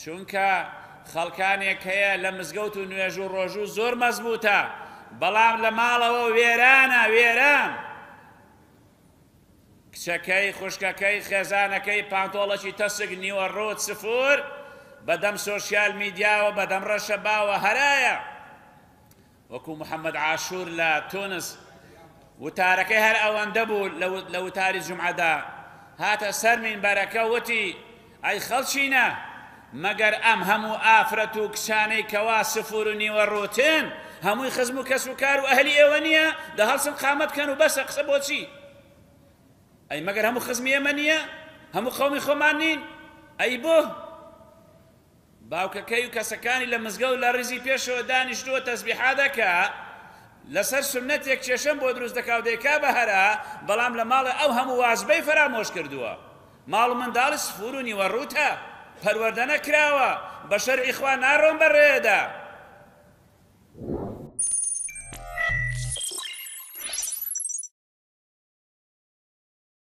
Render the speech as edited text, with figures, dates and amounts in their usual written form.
چونکە خەڵکانێک هەیە لە مزگەوت و نوێژ و ڕۆژوو زۆر مەزبوتە بەڵام لە ماڵەوە وێرانە وێران. کچەکەی، خوشکەکەی، خێزانەکەی پانتۆڵەکی تەسک نیوە ڕووت سفور بەدەم سۆشیال میدیاوە بەدەم ڕەشەباوە هەرایە. وەکو محەمەد عاشور لە تونس وتارەکەی هەر ئەوەندە بوو لە وتاری جومعەدا هاتە سەر مینبەرەکە وتی ئەی خەڵکینە مەگەر ئەم هەموو ئافرەت و کچانەی کەوا سفور و نیوە ڕووتن هەمووی خزم و کەس و کار و ئەهلی ئێوە نییە دە هەڵسن قامەت کەن و بەسە قسە بۆچی ئەی مەگەر هەموو خزمی ئێمە نییە هەموو قەومی خۆمان نین ئەی بۆ باوکەکەی و کەسەکانی لە مزگەوت لە ڕیزی پێشەوە دانیشتووە تەسبیحا دەکا، لەسەر سوننەتێک کێشەم بۆ دروست دەکا و دەیکا بە هەرا، بەڵام لە ماڵێ ئەو هەموو واجبەی فەرامۆش کردووە. ماڵ و منداڵی سفور و نیوە ڕووتە، پەروەردە نەکراوە، بە شەرعی خوا ناڕۆن بە ڕێدا.